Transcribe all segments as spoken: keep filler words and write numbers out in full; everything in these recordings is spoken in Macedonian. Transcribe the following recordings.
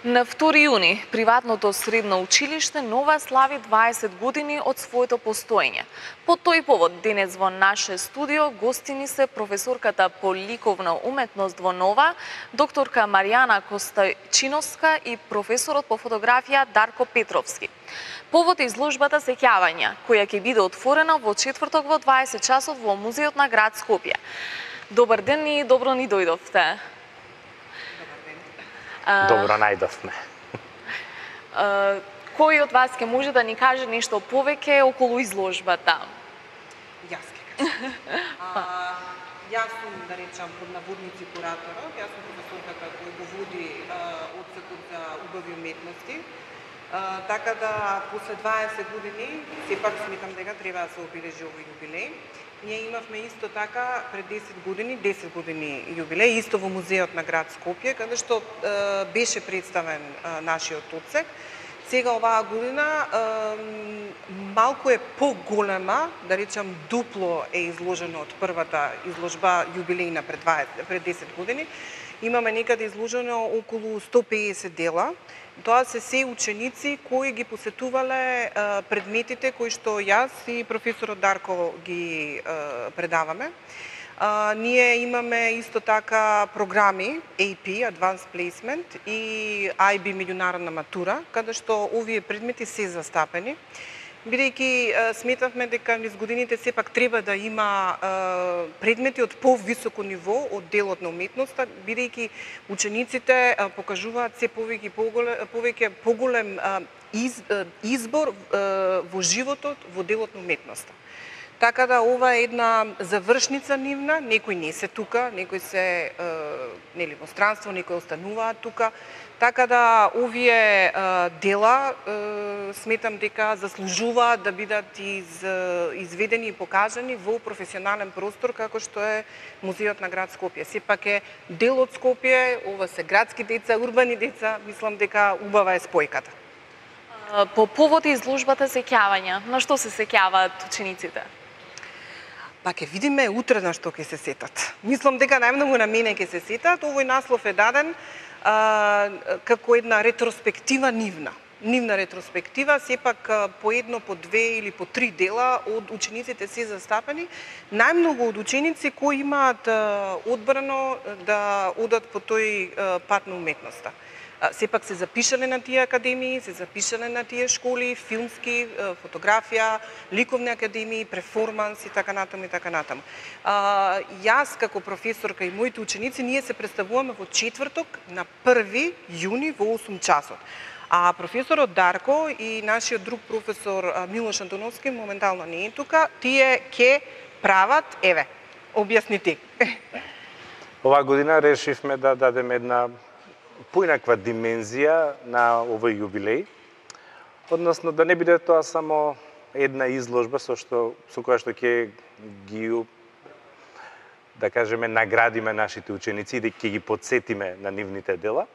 На втори јуни, приватното средно училиште Нова слави дваесет години од своето постоење. По тој повод, денес во наше студио гостини се професорката по ликовна уметност во Нова, докторка Маријана Костачиновска и професорот по фотографија Дарко Петровски. Повод е изложбата Сеќавања, која ќе биде отворена во четврток во дваесет часот во Музеот на град Скопје. Добар ден и добро ни дојдовте. Добро најдовме. Кој од вас ќе може да ни каже нешто повеќе околу изложбата? Јас ќе кажам. Јас сум, да речам, под наводници кураторот. Јас сум професорката која го води одсекот за убави уметности. Uh, така да, после дваесет години, сепак сметам дека треба да се обележи овој јубилеј. Ние имавме исто така пред десет години, десет години јубилеј, исто во Музеот на град Скопје, каде што uh, беше представен uh, нашиот одсек. Сега оваа година uh, малку е поголема, да речам дупло е изложено од првата изложба јубилејна пред, дваесет, пред десет години. Имаме некаде изложено околу сто пеесет дела. Тоа се се ученици кои ги посетувале а, предметите кои што јас и професорот Дарко ги а, предаваме. А, ние имаме исто така програми А П, Advanced Placement, и I B меѓународна матура, каде што овие предмети се застапени. Бидејќи сметавме дека низ годините сепак треба да има а, предмети од повисоко ниво од делот на уметноста, бидејќи учениците а, покажуваат се повеќе поголем, повеќе поголем а, из, а, избор а, во животот во делот на уметноста. Така да ова е една завршница нивна, некои не се тука, некои се а, нели во странство, некои остануваат тука. Така да овие а, дела а, сметам дека заслужуваат да бидат из, изведени и покажани во професионален простор како што е Музеот на град Скопје. Сепак е дел од Скопје, ова се градски деца, урбани деца, мислам дека убава е спојката. По повод изложбата Сеќавања, на што се сеќаваат учениците? Па ќе видиме утре на што ќе се сетат. Мислам дека најмногу на мене ќе се сетат. Овој наслов е даден а, како една ретроспектива нивна. Нивна ретроспектива, сепак по едно, по две или по три дела од учениците се застапени. Најмногу од ученици кои имаат одбрано да одат по тој пат на уметноста. Сепак се запишале на тие академии, се запишале на тие школи, филмски, фотографија, ликовни академии, перформанс и така натаму и така натаму. А, јас како професорка и моите ученици, ние се представуваме во четврток на први јуни во осум часот. А професорот Дарко и нашиот друг професор Милош Антоновски моментално не е тука, тие ќе прават, еве, објасни ти. Оваа година решивме да дадеме една поинаква димензија на овој јубилеј, односно да не биде тоа само една изложба со што со која што ќе ги, да кажеме, наградиме нашите ученици и да ќе ги потсетиме на нивните дела.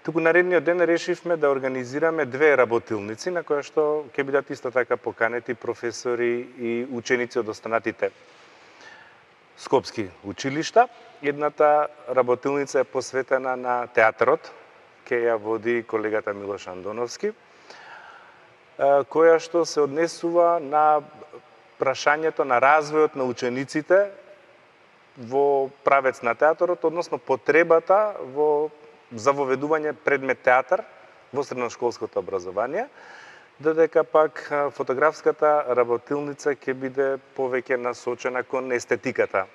Туку наредниот ден решивме да организираме две работилници на која што ќе бидат исто така поканети професори и ученици од останатите скопски училишта. Едната работилница е посветена на театарот, ке ја води колегата Милош Андоновски, која што се однесува на прашањето на развојот на учениците во правец на театарот, односно потребата во за воведување предмет театар во средношколското образование, додека пак фотографската работилница ќе биде повеќе насочена кон естетиката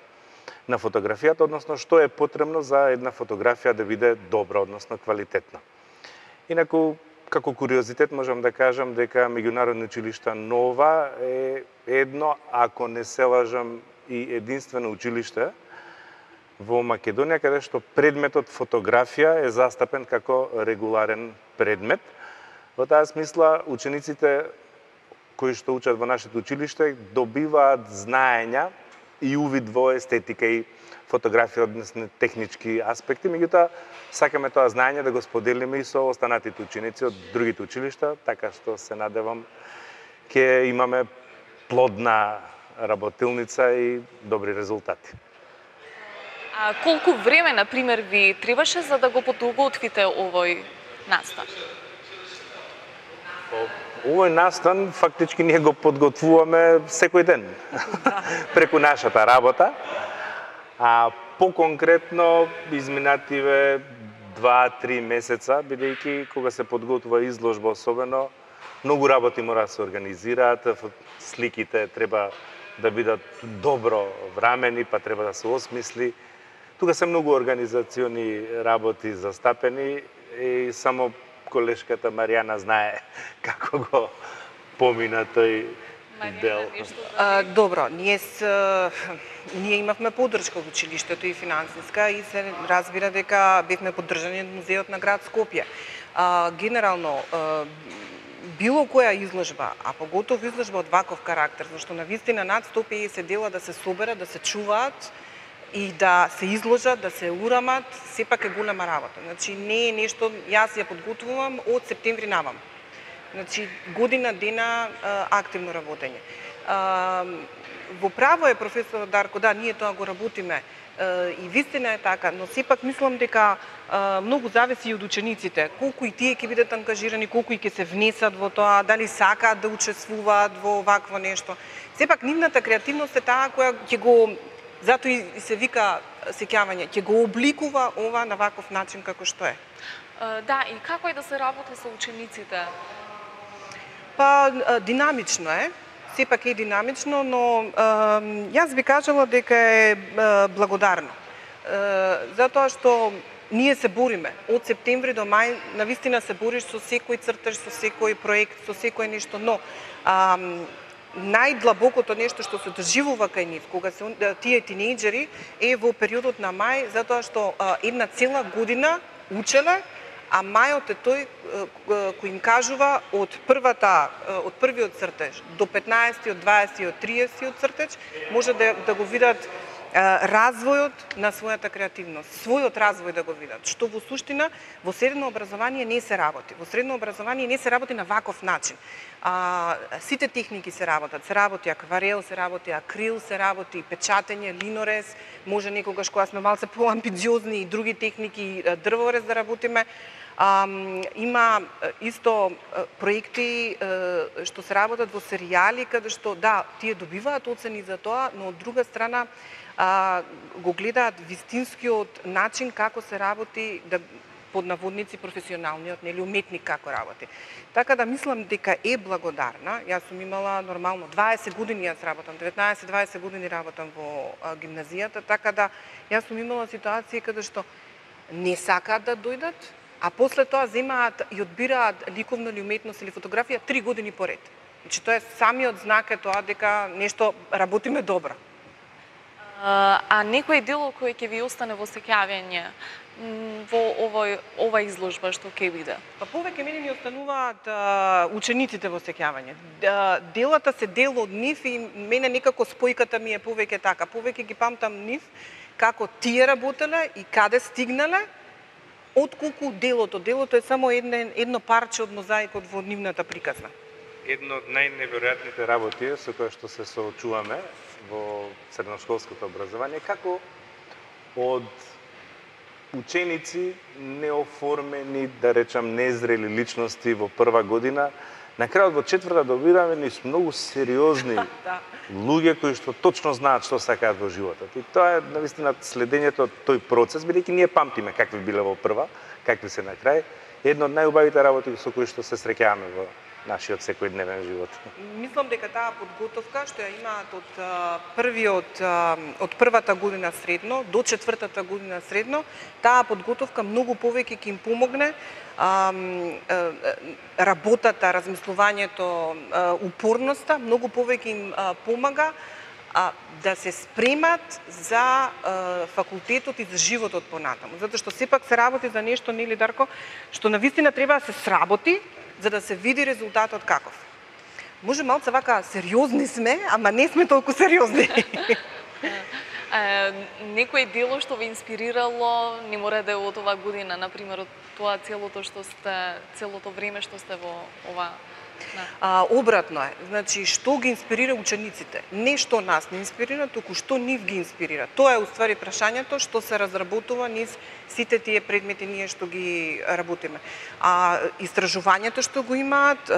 на фотографијата, односно што е потребно за една фотографија да биде добра, односно квалитетна. Инаку, како куриозитет можам да кажам дека Меѓународно училиште Нова е едно, ако не се лажам, и единствено училиште во Македонија каде што предметот фотографија е застапен како регуларен предмет. Во таа смисла, учениците кои што учат во нашето училиште добиваат знаења и увид во естетика и фотографија, односно технички аспекти, меѓутоа сакаме тоа знаење да го споделиме и со останатите ученици од другите училишта, така што се надевам ќе имаме плодна работилница и добри резултати. А колку време, на пример, ви требаше за да го подготвите овој настан? Овој настан фактички ние го подготвуваме секој ден преку нашата работа. А по-конкретно изминативе два-три месеца, бидејќи кога се подготвува изложба особено, многу работи мора да се организираат, сликите треба да бидат добро врамени, па треба да се осмисли. Тука се многу организациони работи застапени и само колешката Маријана знае како го помина тој дел. А, добро, ние с, ние имавме поддршка во училиштето и финансиска и се разбира дека бевме поддржани од музеот на град Скопје. А, генерално а, било која изложба, а поготово изложба од ваков карактер, зашто навистина над сто и педесет дела да се соберат, да се чуваат и да се изложат, да се урамат, сепак е голема работа. Значи не е нешто, јас ја подготвувам од септември навам. Значи година дена а, активно работење. А, во право е професор Дарко, да, ние тоа го работиме а, и вистина е така, но сепак мислам дека а, многу зависи и од учениците, колку и тие ќе бидат ангажирани, колку и ќе се внесат во тоа, дали сакаат да учествуваат во вакво нешто. Сепак нивната креативност е таа која ќе го, затоа и се вика сеќавање, ќе го обликува ова на ваков начин како што е. А, да, и како е да се работи со учениците? Па динамично е, сепак е динамично, но е, јас би кажала дека е, е благодарно. Е, затоа што ние се бориме од септември до мај, навистина се бориш со секој цртеж, со секој проект, со секој нешто, но а, најдлабокото нешто што се доживува кај нив, кога се тие тинејџери, е во периодот на мај, затоа што а, една цела година учеле, а мајот е тој кој им кажува од првата, од првиот цртеж до петнаесети, дваесети, триесети цртеж, може да, да го видат развојот на својата креативност, својот развој да го видат, што во суштина во средно образование не се работи. Во средно образование не се работи на ваков начин. А, сите техники се работат, се работи акварел, се работи акрил, се работи печатење, линорез, може некогаш кога сме малце по-амбициозни и други техники, дрворез да работиме. А, има исто проекти што се работат во серијали, каде што, да, тие добиваат оцени за тоа, но од друга страна а, го гледаат вистинскиот начин како се работи, да, под наводници професионалниот, нели, уметник како работи. Така да мислам дека е благодарна. Јас сум имала нормално дваесет години јас работам, деветнаесет-дваесет години работам во а, гимназијата, така да јас сум имала ситуации каде што не сакаат да дојдат, а после тоа земаат и одбираат ликовна или уметност или фотографија три години поред. Значи тоа е самиот знак е тоа дека нешто работиме добро. А, а некој дел кој ќе ви остане во сеќавање во овој ова изложба што ќе биде? Па повеќе мене ми остануваат а, учениците во сеќавање. Да, делата се дел од нив и мене некако спојката ми е повеќе така. Повеќе ги памтам нив како тие работеле и каде стигнале, отколку делото. Делото е само едно, едно парче од мозаикот во нивната приказна. Едно од најневеројатните работи со кои што се соочуваме во средношколското образование, како од ученици неоформени, да речам, незрели личности во прва година, на крајот во четврта добиваме низ многу сериозни да. луѓе кои што точно знаат што сакаат во животот. И тоа е навистина следењето од тој процес, бидејќи ние памтиме какви биле во прва, какви се на крај. Едно од најубавите работи со кои што се среќаваме во нашиот секојдневен живот. Мислам дека таа подготовка што ја имаат од првиот од првата година средно до четвртата година средно, таа подготовка многу повеќе ќе им помогне а, работата, размислувањето, упорноста, многу повеќе им помага а, да се спремат за а, факултетот и за животот понатаму. Затоа што сепак се работи за нешто, нели Дарко, што навистина треба да се сработи, за да се види резултатот каков. Може малце вака сериозни сме, ама не сме толку сериозни. Некој дело што ви инспирирало, не мора да е од оваа година, например, од тоа целото што сте, целото време што сте во ова А, обратно е. Значи, што ги инспирира учениците? Не што нас не инспирира, туку што нив ги инспирира. Тоа е уствари прашањето што се разработува низ сите тие предмети ние што ги работиме. А истражувањето што го имаат,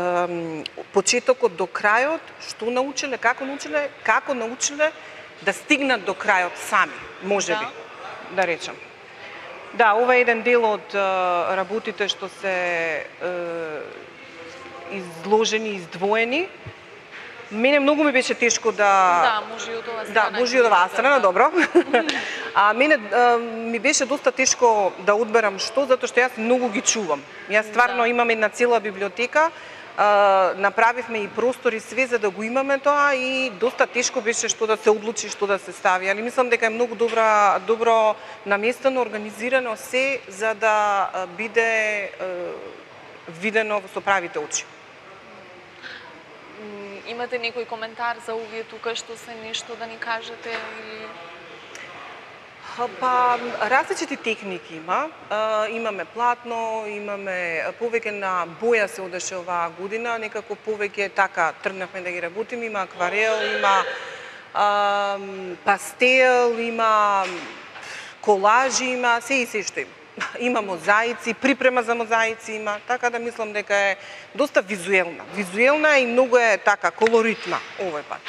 почетокот до крајот, што научиле, како научиле, како научиле да стигнат до крајот сами, можеби, да, да речам. Да, ова е еден дел од работите што се изложени, издвоени. Мене многу ми беше тешко да... Да, може и од оваа страна. Да, може и од оваа страна, добро. А мене а, ми беше доста тешко да одберам што, затоа што јас многу ги чувам. Јас стварно да. имам една цела библиотека, а, направивме и простори све за да го имаме тоа и доста тешко беше што да се одлучи, што да се стави. Али мислам дека е многу добра, добро наместено, организирано се за да биде а, видено со правите очи. Имате некој коментар за овие тука што се нешто да ни кажете или... Па, различити техники има. А, имаме платно, имаме повеќе на боја се одеше оваа година, некако повеќе така тргнавме да ги работиме, има акварел, има а, пастел, има колажи, има се и се што има. Има мозаици, припрема за мозаици има, така да мислам дека е доста визуелна. Визуелна и многу е така колоритна овој пат.